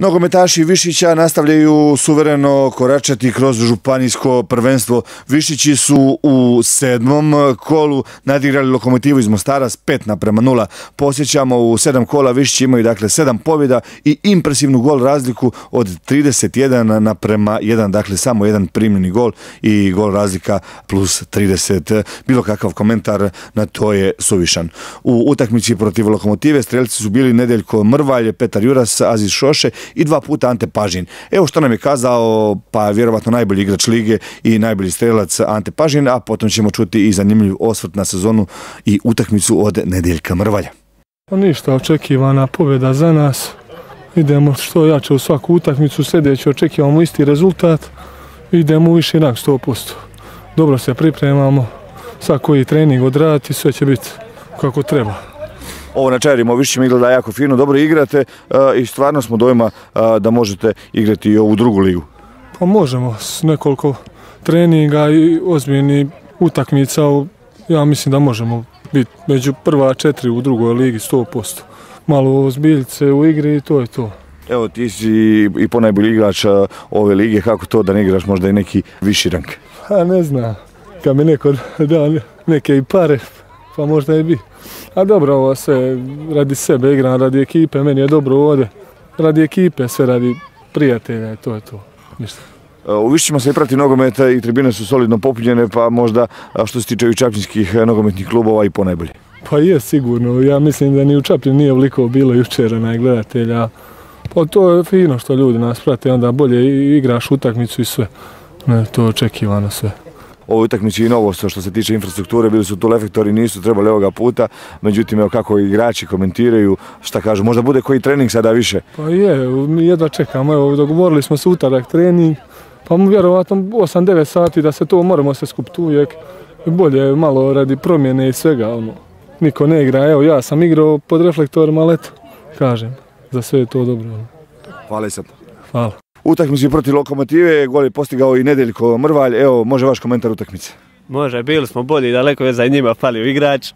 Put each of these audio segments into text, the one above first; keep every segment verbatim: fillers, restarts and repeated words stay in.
Nogometaši Višića nastavljaju suvereno koračati kroz županijsko prvenstvo. Višići su u sedmom kolu nadigrali Lokomotivu iz Mostara s pet naprema nula. Posjećamo, u sedam kola Višići imaju dakle sedam pobjeda i impresivnu gol razliku od trideset jedan naprema jedan, dakle samo jedan primljeni gol i gol razlika plus trideset. Bilo kakav komentar na to je suvišan. U utakmici protiv Lokomotive strelci su bili Nedeljko Mrvalj, Petar Juras, Aziz Šoše i dva puta Ante Pažin. Evo što nam je kazao, pa vjerovatno najbolji igrač lige i najbolji strelac Ante Pažin, a potom ćemo čuti i zanimljiv osvrt na sezonu i utakmicu od Nedeljka Mrvalja. Pa ništa, očekivana pobjeda za nas. Idemo što jače u svaku utakmicu, sljedeći očekivamo isti rezultat, idemo u viši rang sto posto. Dobro se pripremamo, svaki trening odraditi, sve će biti kako treba. Ovo na Čajerima u Višićima izgleda jako fino, dobro igrate i stvarno smo dojma da možete igrati i ovu drugu ligu. Pa možemo, s nekoliko treninga i ozbiljnih utakmica, ja mislim da možemo biti među prva četiri u drugoj ligi sto posto. Malo ozbiljce u igri i to je to. Evo, ti si i ponajbolji igrač ove lige, kako to da ne igraš možda i neki viši rang? Pa ne znam, kad mi neko da neke i pare, pa možda i bi. A dobro, ovo sve radi sebe igram, radi ekipe, meni je dobro ovdje. Radi ekipe, sve radi prijatelja i to je to. Ništa. U Višićima se i prati nogometa i tribine su solidno popunjene, pa možda što se tiče i čapljinskih nogometnih klubova i ponajbolje. Pa je sigurno, ja mislim da ni u Čapljinu nije ovoliko bilo jučera na gledatelja. Pa to je fino što ljudi nas prate, onda bolje igraš utakmicu i sve. Ne, to je očekivano sve. Ovo utakmici i novost što se tiče infrastrukture, bili su tu reflektori, nisu trebali ovoga puta, međutim evo kako igrači komentiraju, šta kažu, možda bude koji trening sada više? Pa je, mi jedva čekamo, evo dogovorili smo se utorak trening, pa vjerovatno osam devet sati da se to moramo se skupiti uvijek, bolje malo radi promjene i svega, ono, niko ne igra, evo ja sam igrao pod reflektorima, ali eto, kažem, za sve je to dobro. Hvala i sad. Hvala. Utakmici protiv Lokomotive, gol je postigao i Nedeljko Mrvalj. Evo, može vaš komentar utakmice? Može, bili smo bolji, daleko je za njima falio igrač,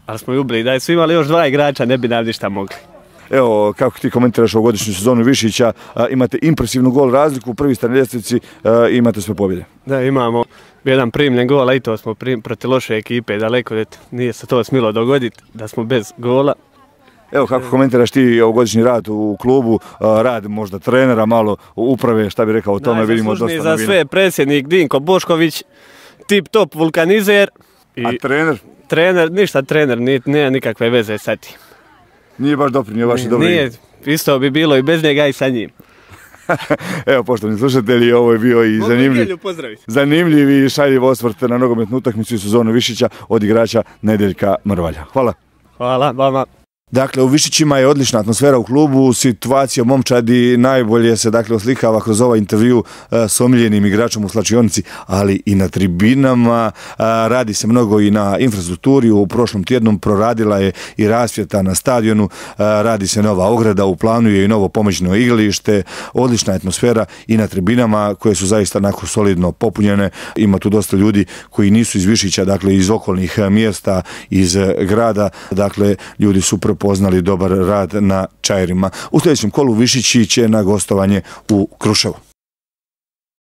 ali smo i ubili. Da su imali još dva igrača, ne bi nam ništa mogli. Evo, kako ti komentiraš ovogodišnju sezonu Višića, imate impresivnu gol razliku, prvi ste na ljestvici i imate sve pobjede. Da, imamo jedan primljen gol, a i to smo prim, protiv loše ekipe, daleko je, nije se to smilo dogoditi, da smo bez gola. Evo, kako komentiraš ti ovogodišnji rad u klubu, rad možda trenera, malo uprave, šta bi rekao o tome, vidimo dosta novina. Za sve predsjednik Dinko Bošković, tip top vulkanizer. I a trener? Trener, ništa trener, nije, nije nikakve veze sa tim. Nije baš doprinio vaše dobro igre? Nije, isto bi bilo i bez njega i sa njim. Evo, poštovani slušatelji, ovo je bio i zanimljiv, zanimljiv i šaljiv osvrt na nogometnu utakmicu i sezonu Višića od igrača Nedeljka Mrvalja. Hvala. Hvala vama. Dakle, u Višićima je odlična atmosfera u klubu, situacija momčadi najbolje se dakle oslikava kroz ovaj intervju s omiljenim igračom u slačionici, ali i na tribinama. Radi se mnogo i na infrastrukturi, u prošlom tjednu proradila je i rasvjeta na stadionu, radi se nova ograda, u planu je i novo pomoćno igralište, odlična atmosfera i na tribinama koje su zaista onako solidno popunjene. Ima tu dosta ljudi koji nisu iz Višića, dakle iz okolnih mjesta, iz grada, dakle ljudi su prepoznali dobar rad na Čajerima. U sljedećem kolu Višići će na gostovanje u Kruševu.